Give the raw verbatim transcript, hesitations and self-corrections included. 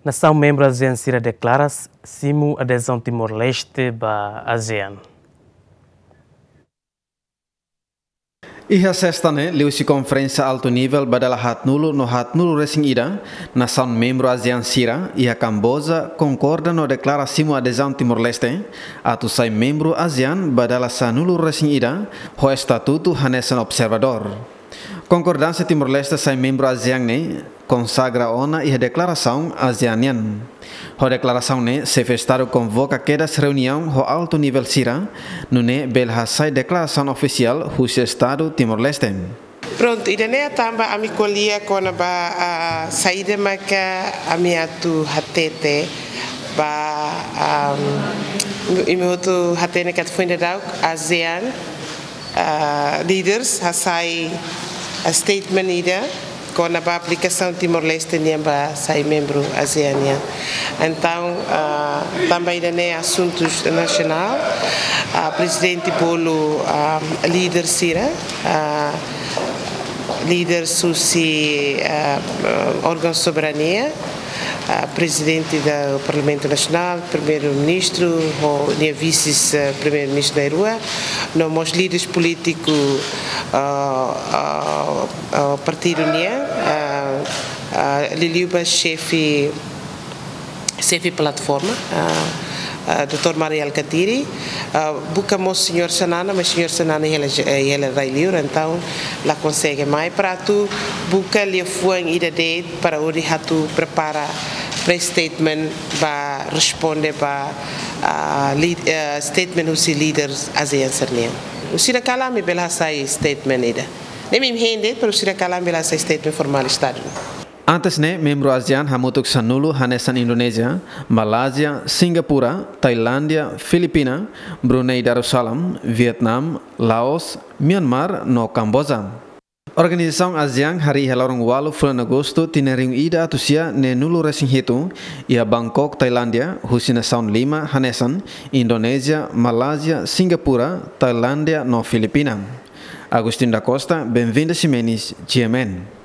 Nasaun membru ASEAN sira deklara simu adezaun Timor-Leste ba ASEAN. Iha sesta ne'e, liuhusi konferénsia altu nivel ba dala haatnulu no haatnulu resin ida, nasaun membru ASEAN sira iha Kamboja konkorda no deklara simu adezaun Timor-Leste atu sai membru ASEAN ba dala sanulu resin ida, ho estatutu hanesan observadór. Konkordánsia Timor-Leste sai membru ASEAN ne'e konsagra ona iha deklarasaun ASEAN nian. Ho deklarasaun ne'e, xefe Estadu konvoka kedas reuniaun ho altu nivel sira, nune'e bele hasai deklarasaun ofisiál husi Estadu Timor-Leste. Prontu, ida-ne'e tanba ami ko'alia kona-ba, ah, saida maka ami atu hatete ba, ah, imi hotu hatene katak foin daudauk ASEAN, ah, leaders hasai, ah, statement ida kona-ba aplikasaun Timor-Leste nian ba sai membru ASEAN nian. Entaun, ah, tanba ida-ne'e asuntu nasionál, ah, prezidente bolu, ah, líder sira, ah, líder husi, ah, órgaun soberania, ah, prezidente do Parlamentu Nasionál, primeiru-ministru, ho nia vises, ah, primeiru-ministru na'in-rua, no mós líderes polítiku, ah, ah, ah, partidu nian, ah, ah, liuliu ba xefe, xefe plataforma, ah, ah, doutór Mari Alkatiri, ah, buka mós señór Xanana, mas señór Xanana hela, eh, hela rai-li'ur, entaun la konsege mai para atu buka liafuan ida de'it para hodi atu prepara press statement ba responde ba, ah, li-, eh, statement husi líder ASEAN sira-nian. Husi ne'e kalan ami bele hasai statement ida. Ne'e imi hein de'it, pero husi ne'e kalan ami bele hasai statement formál Estadu. Antes ne'e, membru ASEAN hamutuk sanulu hanesan Indonézia, Malázia, Singapura, Tailándia, Filipina, Brunei Darussalam, Vietnam, Laos, Myanmar no Kamboja. Organizasaun ASEAN harii iha loron ualu fulan Agostu tinan rihun ida atus sia neenulu resin hitu iha Bangkok, Tailándia, husi nasaun lima hanesan Indonézia, Malázia, Singapura, Tailándia no Filipina. Agostinho da Costa, Benvinda Ximenes, GMN.